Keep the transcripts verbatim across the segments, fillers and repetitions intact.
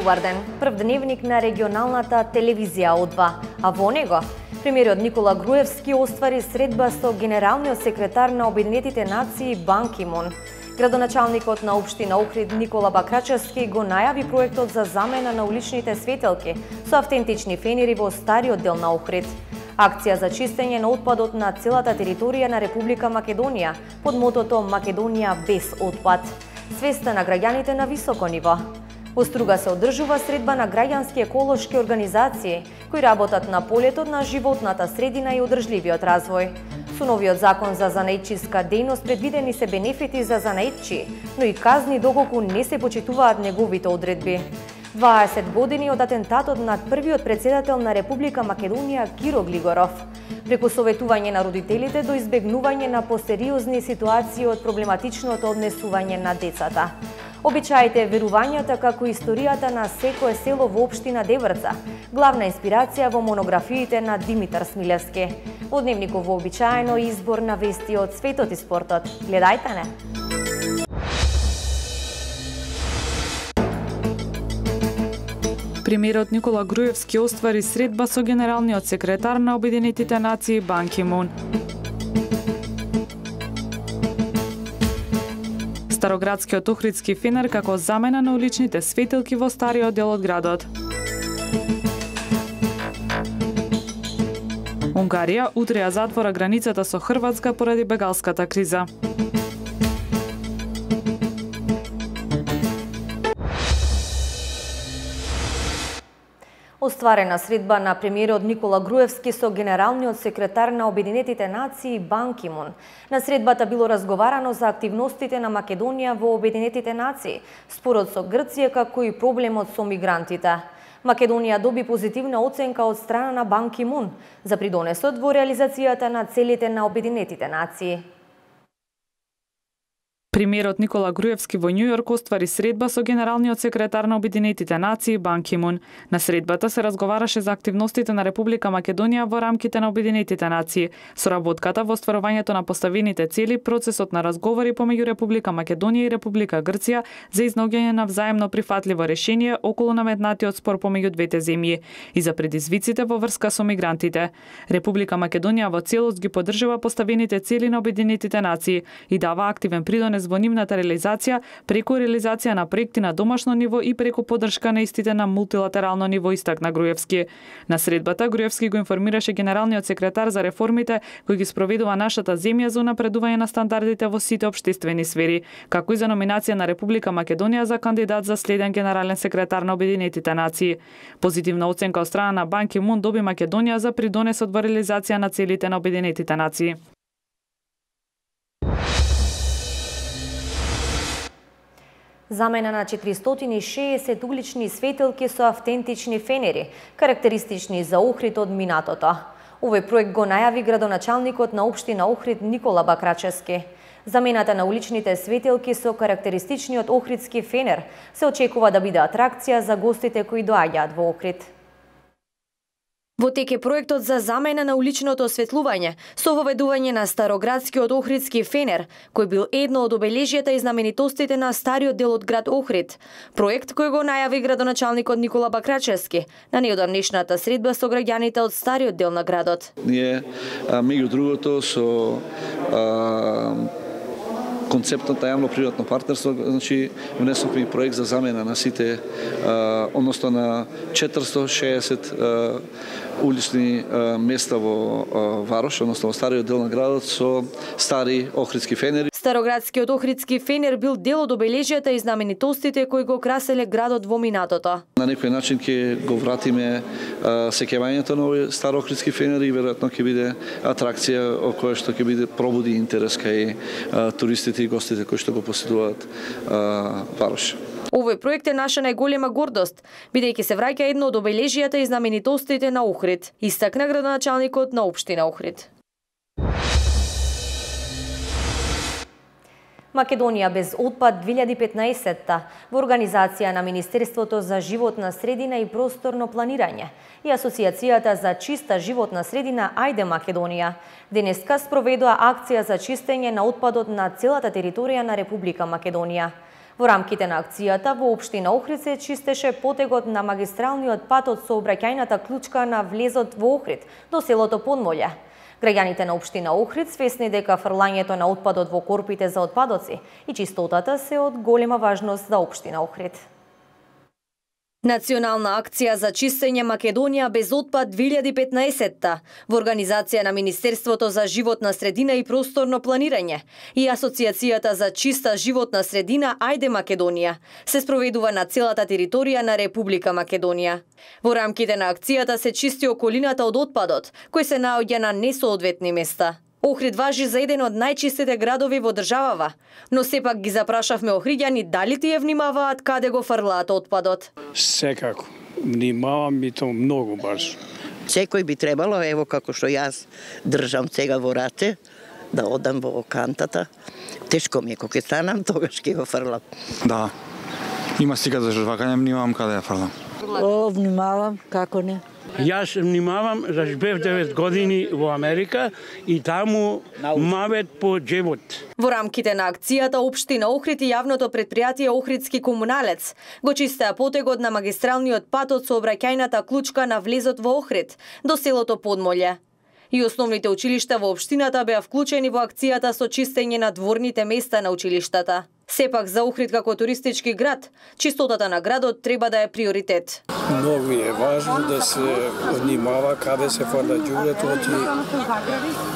Добар ден. Прв дневник на регионалната телевизија О два, а во него премиерот Никола Груевски оствари средба со генералниот секретар на Обединетите нации Бан Ки Мун. Градоначалникот на општина Охрид Никола Бакрачевски го најави проектот за замена на уличните светелки со автентични фенери во стариот дел на Охрид. Акција за чистење на отпадот на целата територија на Република Македонија под мотото Македонија без отпад. Свеста на граѓаните на високо ниво. Во Струга се одржува средба на граѓански еколошки организации кои работат на полетот на животната средина и одржливиот развој. Со новиот закон за занаидчиска дејност предвидени се бенефити за занаидчи, но и казни доколку не се почитуваат неговите одредби. дваесет години од атентатот над првиот претседател на Република Македонија Киро Глигоров. Преку советување на родителите до избегнување на посериозни ситуации од проблематичното однесување на децата. Обичаите, верувањата како историјата на секое село во општина Деврца, главна инспирација во монографиите на Димитар Смилевски. Во дневникот вообичаено избор на вести од светот и спортот. Гледајте не! Премиерот Никола Груевски оствари средба со генералниот секретар на Обединетите нации Бан Ки Мун. Староградскиот охридски фенер како замена на уличните светилки во стариот дел од градот. Унгарија утре ја затвора границата со Хрватска поради бегалската криза. Остварена средба на премиерот Никола Груевски со генералниот секретар на Обединетите нации Бан Ки Мун. На средбата било разговарано за активностите на Македонија во Обединетите нации, спорот со Грција како и проблемот со мигрантите. Македонија доби позитивна оценка од страна на Бан Ки Мун за придонесот во реализацијата на целите на Обединетите нации. Премиерот Никола Груевски во Њујорк оствари средба со генералниот секретар на Обединетите нации Бан Ки Мун. На средбата се разговараше за активностите на Република Македонија во рамките на Обединетите нации, соработката во остварувањето на поставените цели, процесот на разговори помеѓу Република Македонија и Република Грција за изнаоѓање на взаемно прифатливо решение околу наметнатиот спор помеѓу двете земји и за предизвиците во врска со мигрантите. Република Македонија во целост ги поддржува поставените цели на Обединетите нации и дава активен придонес во нивната реализација преку реализација на проекти на домашно ниво и преку поддршка на истите на мултилатерално ниво, истакна Груевски. На средбата Груевски го информираше генералниот секретар за реформите кои ги спроведува нашата земја за унапредување на стандардите во сите општествени сфери, како и за номинација на Република Македонија за кандидат за следен генерален секретар на Обединетите нации. Позитивна оценка од страна на Бан Ки Мун доби Македонија за придонесот во реализација на целите на Обединетите нации. Замена на четиристотини и шеесет улични светилки со автентични фенери, карактеристични за Охрид од минатото. Овој проект го најави градоначалникот на општина Охрид Никола Бакрачевски. Замената на уличните светилки со карактеристичниот охридски фенер се очекува да биде атракција за гостите кои доаѓаат во Охрид. Во тек е проектот за замена на уличното осветлување со воведување на староградскиот охридски фенер, кој бил едно од обележјата и знаменитостите на стариот дел од град Охрид. Проект кој го најави градоначалникот Никола Бакрачевски на неодамнешната средба со граѓаните од стариот дел на градот. Ние, меѓу другото, со а, концептот на јавно-приватно партнерство, значи внесовме и проект за замена на сите, а, односно на четиристотини и шеесет а, улични а, места во а, Варош, односно во стариот дел на градот со стари охридски фенери. Староградскиот охридски фенер бил дел од обележјата и знаменитостите кои го краселе градот во минатото. На некој начин ќе го вратиме сеќавањето на овој стар охридски фенер и веројатно ќе биде атракција о која што ќе биде пробуди интерес кај а, туристите и гостите кои што го посетуваат а, Варош. Овој проект е наша најголема гордост, бидејќи се враќа едно од обележјата и знаменитостите на Охрид, истакна градоначалникот на општина Охрид. Македонија без отпад две илјади и петнаесетта во организација на Министерството за животна средина и просторно планирање и Асоциацијата за чиста животна средина Ајде Македонија денеска спроведува акција за чистење на отпадот на целата територија на Република Македонија. Во рамките на акцијата во општина Охрид се чистеше потегот на магистралниот пат од сообраќајната клучка на влезот во Охрид до селото Подмолје. Граѓаните на општина Охрид свесни дека фрлањето на отпадот во корпите за отпадоци и чистотата се од голема важност за општина Охрид. Национална акција за чистење Македонија без отпад две илјади и петнаесетта во организација на Министерството за животна средина и просторно планирање и Асоциацијата за чиста животна средина Ајде Македонија се спроведува на целата територија на Република Македонија. Во рамките на акцијата се чисти околината од отпадот, кој се наоѓа на несоодветни места. Охрид важи за еден од најчистите градови во државава, но сепак ги запрашавме охриѓани дали тие внимаваат каде го фрлаат отпадот. Секако, внимавам и то многу баш. Секој би требало, ево како што јас држам сега во рате, да одам во кантата. Тешко ми е кога ќе станам, тогаш ќе го фрлам. Да, има сега за жвакање, внимавам каде ја фрлам. О, внимавам, како не. Јас внимавам, заш бев девет години во Америка и таму мавет по джебот. Во рамките на акцијата општина Охрид и јавното претпријатие Охридски комуналец го чистеа потегот на магистралниот пат од сообраќајната клучка на влезот во Охрид до селото Подмолје. И основните училишта во општината беа вклучени во акцијата со чистење на дворните места на училиштата. Сепак за Охрид како туристички град, чистотата на градот треба да е приоритет. Многу е важно да се внимава каде се фрла ѓубрето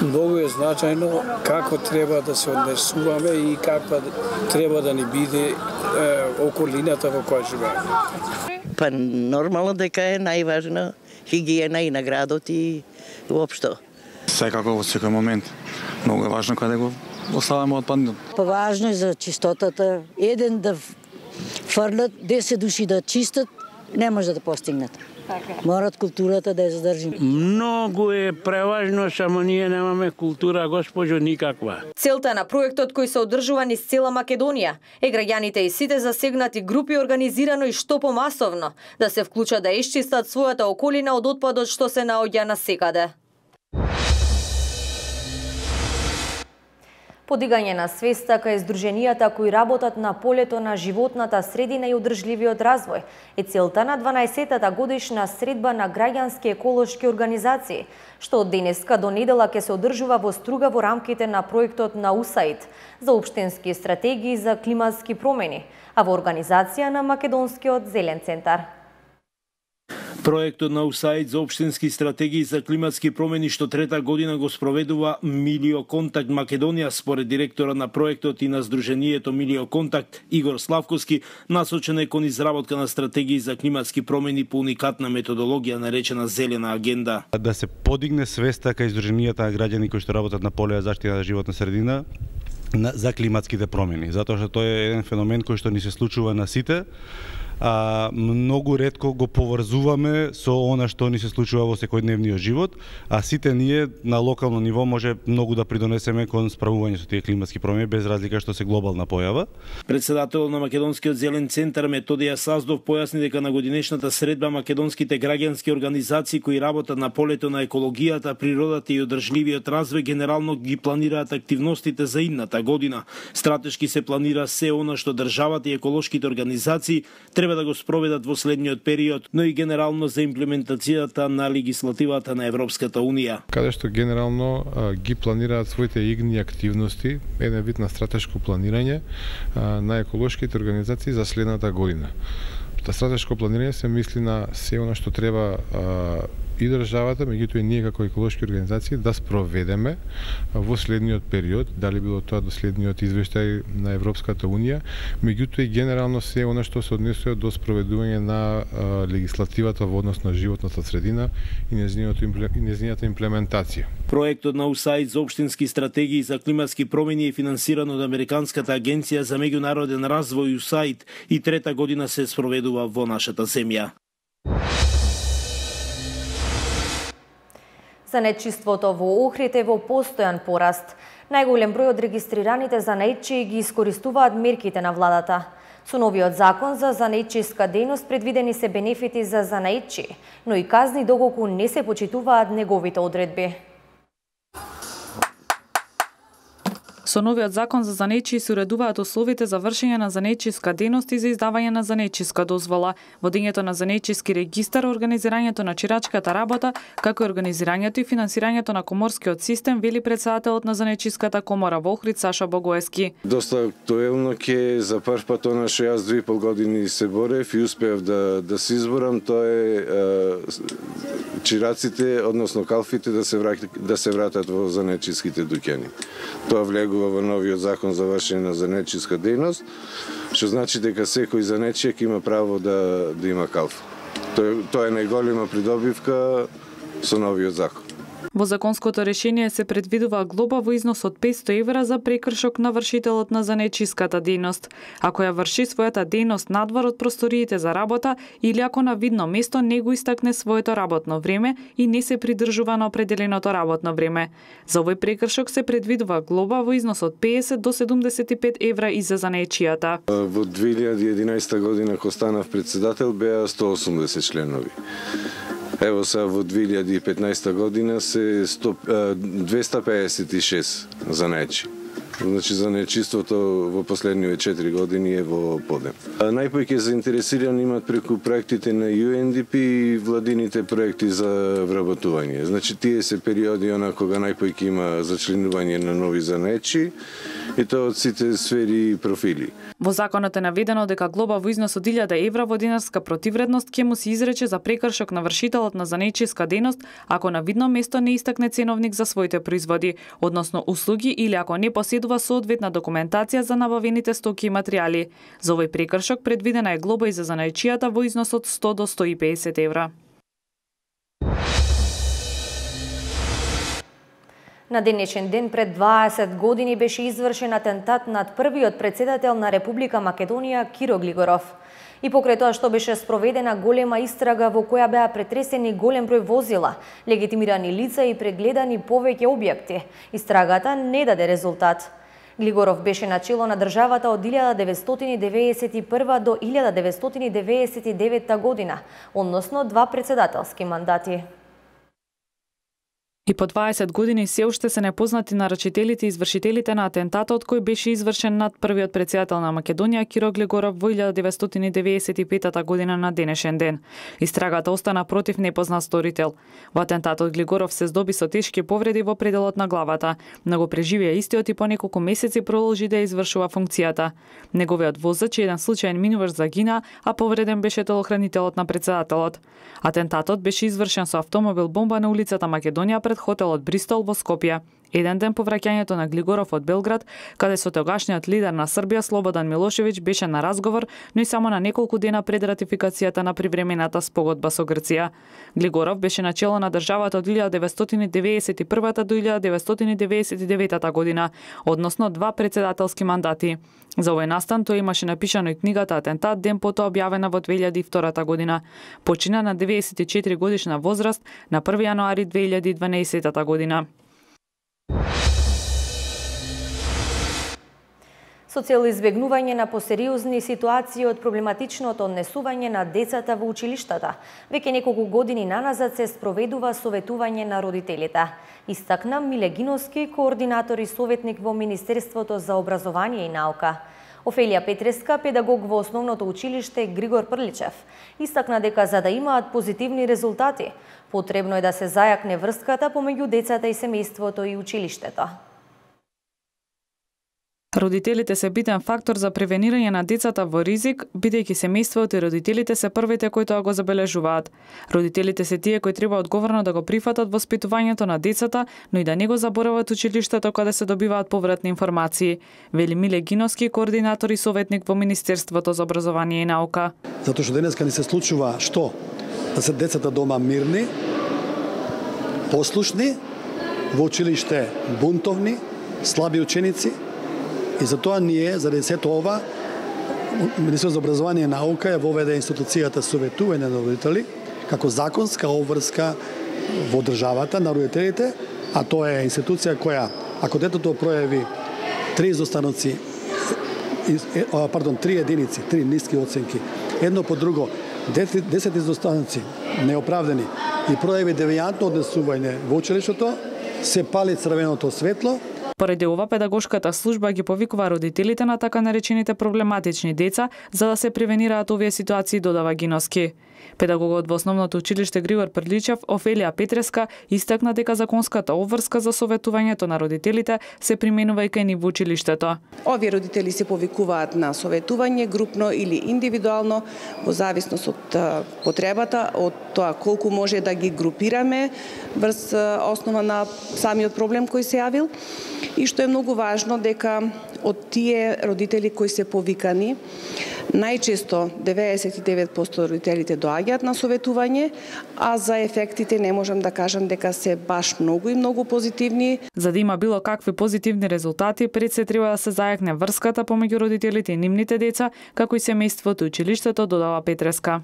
и многу е значајно како треба да се однесуваме и каква треба да ни биде е, околината во која живееме. Па нормално дека е најважна хигиена и на градот и уопшто. Секако во секој момент. Многу е важно каде го оставаме отпадот. Па важно е за чистотата. Еден да фрлат, десет души да чистат, не може да постигнат. Морат културата да ја задржим. Многу е преважно, само ние немаме култура, госпожо, никаква. Целта на проектот кој се одржува низ цела Македонија е граѓаните и сите засегнати групи организирано и што помасовно да се вклучат да исчистат својата околина од отпадот што се наоѓа насекаде. Подигање на свеста кај здруженијата кои работат на полето на животната средина и одржливиот развој е целта на дванаесеттата годишна средба на граѓански еколошки организации, што од денеска до недела ќе се одржува во Струга во рамките на проектот на УСАИД за општински стратегии за климатски промени, а во организација на Македонскиот зелен центар. Проектот на УСАИД за општински стратегии за климатски промени што трета година го спроведува Милио Контакт Македонија, според директора на проектот и на Сдруженијето Милио Контакт Игор Славковски, насочен е кон изработка на стратегии за климатски промени по уникатна методологија наречена Зелена агенда. Да се подигне свеста кај Сдруженијата на граѓани кои што работат на поле за заштита на животна средина за климатските промени, затоа што тој е еден феномен кој што ни се случува на сите. А, многу ретко го поврзуваме со она што ни се случува во секојдневниот живот, а сите ние на локално ниво може многу да придонесеме кон справување со тие климатски промени без разлика што се глобална појава. Председателот на Македонскиот зелен центар Методија Саздов појасни дека на годинешната средба македонските граѓански организации кои работат на полето на екологијата, природата и одржливиот развој генерално ги планираат активностите за идната година. Стратешки се планира се она што државата и еколошките организации треба да го спроведат во следниот период, но и генерално за имплементацијата на легислативата на Европската Унија. Каде што генерално а, ги планираат своите игни активности, еден вид на стратешко планирање а, на еколошките организации за следната година. Та стратешко планирање се мисли на се она што треба а, и државата, меѓутоа и ние како еколошки организации да спроведеме во следниот период, дали било тоа до следниот извештај на Европската Унија, меѓутоа и генерално се она што се однесува до спроведување на а, легислативата во однос на животната средина и нејзината имплементација. Проектот на УСАИД за општински стратегии за климатски промени е финансиран од Американската агенција за меѓународен развој УСАИД и трета година се спроведува во нашата земја. Занетчиството во Охрид е во постојан пораст. Најголем број од регистрираните занетчии ги искористуваат мерките на владата. Со новиот закон за занетчиска дејност предвидени се бенефити за занетчии, но и казни доколку не се почитуваат неговите одредби. Со новиот закон за занечи се уредуваат условите за вршење на занечиска дејност и за издавање на занечиска дозвола, водењето на занечиски регистар, организирањето на чирачката работа, како и организирањето и финансирањето на коморскиот систем, вели председателот на занечиската комора во Охрид Саша Богоевски. Доста актуелно ќе за прв пат она што јас две и пол години се борев и успеав да да се изборам, тоа е, е чираците, односно калфите да се вратат да се вратат во занечиските дуќани. Тоа влегува во новиот закон за вршење на занечиска дејност, што значи дека секој занечијак има право да да има калфа. Тоа, тоа е најголема придобивка со новиот закон. Во законското решение се предвидува глоба во износ од петсто евра за прекршок на вршителот на занечиската дејност, ако ја врши својата дејност надвор од просториите за работа или ако на видно место не го истакне своето работно време и не се придржува на определеното работно време. За овој прекршок се предвидува глоба во износ од педесет до седумдесет и пет евра и за занечијата. Во две илјади и единаесета година кога станав председател беа сто осумдесет членови. Ево сега во две илјади и петнаесета година се двеста пеесет и шест занечи. Значи занечиството во последниве четири години е во подем. Најповеќе заинтересирани имат преку проектите на Ю Ен Ди Пи и владините проекти за вработување. Значи тие се периоди она кога најповеќе има зачленување на нови занечи и тоа од сите сфери и профили. Во законот е наведено дека глоба во износ од илјада евра во динарска противредност ќе му се изрече за прекршок на вршителот на занечиска дејност ако на видно место не истакне ценовник за своите производи, односно услуги, или ако не поседува соодветна документација за набавените стоки и материјали. За овој прекршок предвидена е глоба и за занечијата во износ од сто до сто и педесет евра. На денешен ден пред дваесет години беше извршен атентат над првиот председател на Република Македонија Киро Глигоров. И покрај тоа што беше спроведена голема истрага во која беа претресени голем број возила, легитимирани лица и прегледани повеќе објекти, истрагата не даде резултат. Глигоров беше начело на државата од илјада деветстотини деветдесет и прва до илјада деветстотини деветдесет и девета година, односно два председателски мандати. И по дваесет години се уште се непознати нарачителите и извршителите на атентатот кој беше извршен над првиот председател на Македонија Киро Глигоров во илјада деветстотини деветдесет и пета година на денешен ден. Истрагата остана против непознат сторител. Во атентатот Глигоров се здоби со тешки повреди во пределот на главата, но го преживеа истиот и по неколку месеци продолжи да извршува функцијата. Неговиот возач и еден случаен минуваш загина, а повреден беше телохранителот на председателот. Атентатот беше извршен со автомобил бомба на улицата Македонија пред хотелот Бристол во Скопје. Еден ден по враќањето на Глигоров од Белград, каде со тогашниот лидер на Србија Слободан Милошевиќ беше на разговор, но и само на неколку дена пред ратификацијата на привремената спогодба со Грција. Глигоров беше начело на државата од илјада деветстотини деветдесет и прва до илјада деветстотини деветдесет и девета година, односно два председателски мандати. За овој настан тој имаше напишано и книгата Атентат, ден потоа објавена во две илјади и втора година. Почина на деветдесет и четири годишна возраст на први јануари две илјади и дванаесета година. Со цел избегнување на посериозни ситуации од проблематичното однесување на децата во училиштата, веќе неколку години наназад се спроведува советување на родителите. Истакна Миле Гиновски, координатор и советник во Министерството за образование и наука. Офелија Петреска, педагог во основното училиште Григор Прличев, истакна дека за да имаат позитивни резултати, потребно е да се зајакне врската помеѓу децата и семејството и училиштето. Родителите се битен фактор за превенирање на децата во ризик, бидејќи семејството и родителите се првите кои тоа го забележуваат. Родителите се тие кои треба одговорно да го прифатат воспитувањето на децата, но и да не го заборават училиштето каде се добиваат повратни информации, вели Миле Гиновски, координатор и советник во Министерството за образование и наука. Затоа што денеска ни се случува што? Да се децата дома мирни, послушни, во училиште бунтовни, слаби ученици. И затоа ние, заради сето ова, Министерството за образование и наука ја воведе институцијата советување на родители како законска обврска во државата на родителите, а тоа е институција која, ако детето пројави три изостаноци, пардон, три единици, три ниски оценки, едно по друго, десет изостаноци неоправдани и пројави девијантно однесување во училиштето, се пали црвеното светло. Поради ова, педагошката служба ги повикува родителите на така наречените проблематични деца за да се превенираат овие ситуации, додава Гиновски. Педагогот во основното училиште Григор Прличев, Офелија Петреска, истакна дека законската обврска за советувањето на родителите се применува и кај нив во училиштето. Овие родители се повикуваат на советување групно или индивидуално во зависност од потребата, од тоа колку може да ги групираме врз основа на самиот проблем кој се јавил. И што е многу важно дека од тие родители кои се повикани, најчесто деветдесет и девет проценти родителите доаѓаат на советување, а за ефектите не можам да кажам дека се баш многу и многу позитивни. За да има било какви позитивни резултати, пред се треба да се зајакне врската помеѓу родителите и нивните деца, како и семејството и училиштето, додава Петреска.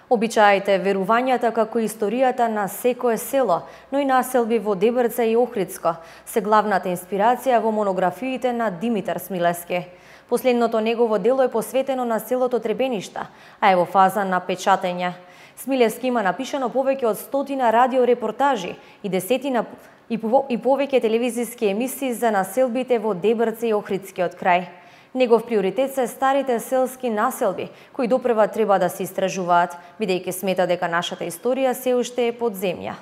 Обичаите, верувањата како историјата на секое село, но и населби во Дебрца и Охридско, се главната инспирација во монографиите на Димитар Смилевски. Последното негово дело е посветено на селото Требеништа, а е во фаза на печатење. Смилевски има напишано повеќе од стотина радиорепортажи и десетина и повеќе телевизиски емисии за населбите во Дебрца и Охридскиот крај. Негов приоритет се старите селски населби, кои допрва треба да се истражуваат, бидејќи смета дека нашата историја се уште е под земја.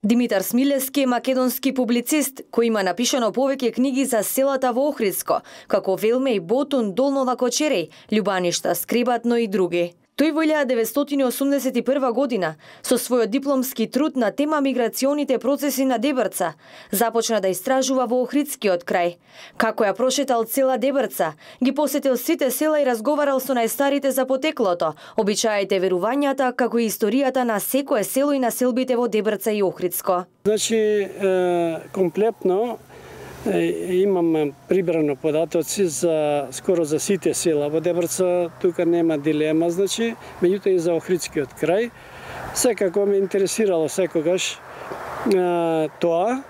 Димитар Смилевски е македонски публицист, кој има напишано повеќе книги за селата во Охридско, како Велме и Ботун, Долнова Кочереј, Љубаништа, Скрибатно и други. Тој во илјада деветстотини осумдесет и прва година, со својот дипломски труд на тема миграционите процеси на Дебрца, започна да истражува во Охридскиот крај. Како ја прошетал цела Дебрца, ги посетил сите села и разговарал со најстарите за потеклото, обичаите, верувањата, како и историјата на секое село и населбите во Дебрца и Охридско. Значи, комплетно имам прибрано податоци за скоро за сите села во Дебрца, тука нема дилема, значи, меѓутоа и за Охридскиот крај. Секако ме интересирало секогаш а, тоа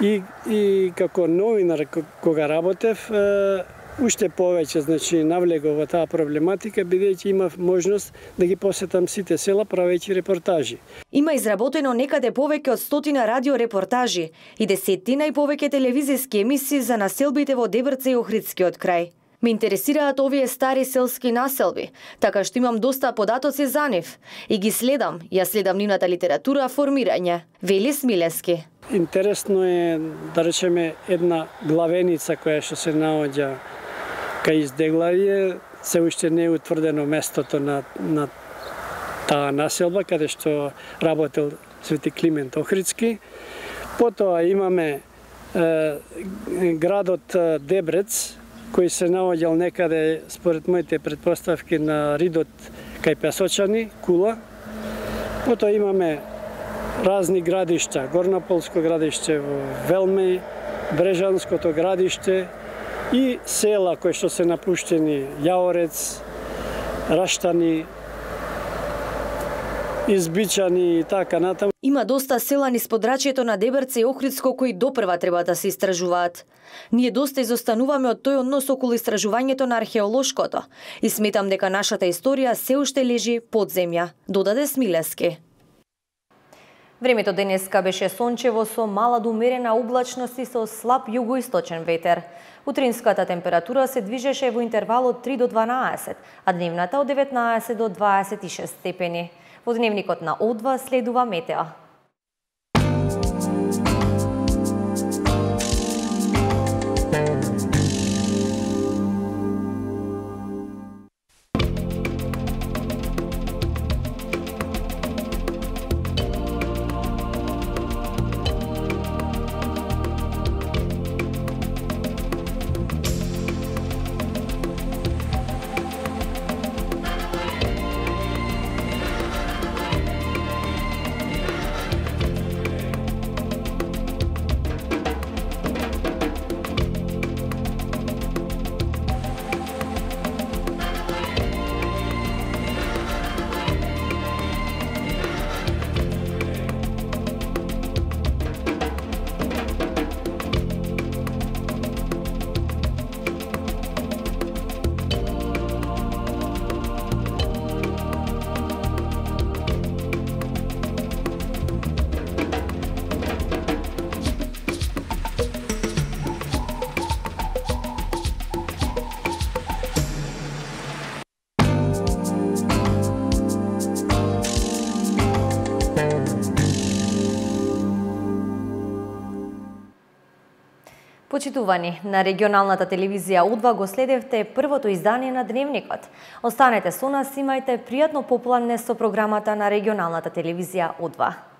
и, и како новинар кога работев, а, уште повеќе, значи, навлегов во таа проблематика, бидејќи имав можност да ги посетам сите села правејќи репортажи. Има изработено некаде повеќе од стотина радиорепортажи и десетина и повеќе телевизиски емисии за населбите во Дебрца и Охридскиот крај. Ме интересираат овие стари селски населби, така што имам доста податоци за нив и ги следам, ја следам нивната литература, формирање, вели Смилевски. Интересно е, да речеме, една главеница која што се наоѓа кај Издеглавје, се уште не е утврдено местото на, на таа населба, каде што работел Свети Климент Охридски. Потоа имаме е, градот Дебрец, кој се наоѓал некаде, според моите предпоставки, на ридот кај Песочани, Кула. Потоа имаме разни градишта, Горнополско градиште во Велмеј, Брежанското градиште и села кои што се напуштени, Јаорец, Раштани, Избичани и така натаму. Има доста села низ подрачјето на Дебрца и Охридско кои допрва треба да се истражуваат. Ние доста изостануваме од тој однос околу истражувањето на археолошкото и сметам дека нашата историја се уште лежи под земја, додаде Смилевски. Времето денеска беше сончево со мала до умерена облачност и со слаб југоисточен ветер. Утринската температура се движеше во интервал од три до дванаесет, а дневната од деветнаесет до дваесет и шест степени. Во дневникот на О два следува метео. Почитувани, на регионалната телевизија У два го следевте првото издание на Дневникот. Останете со нас, имајте пријатно попладне со програмата на регионалната телевизија У два.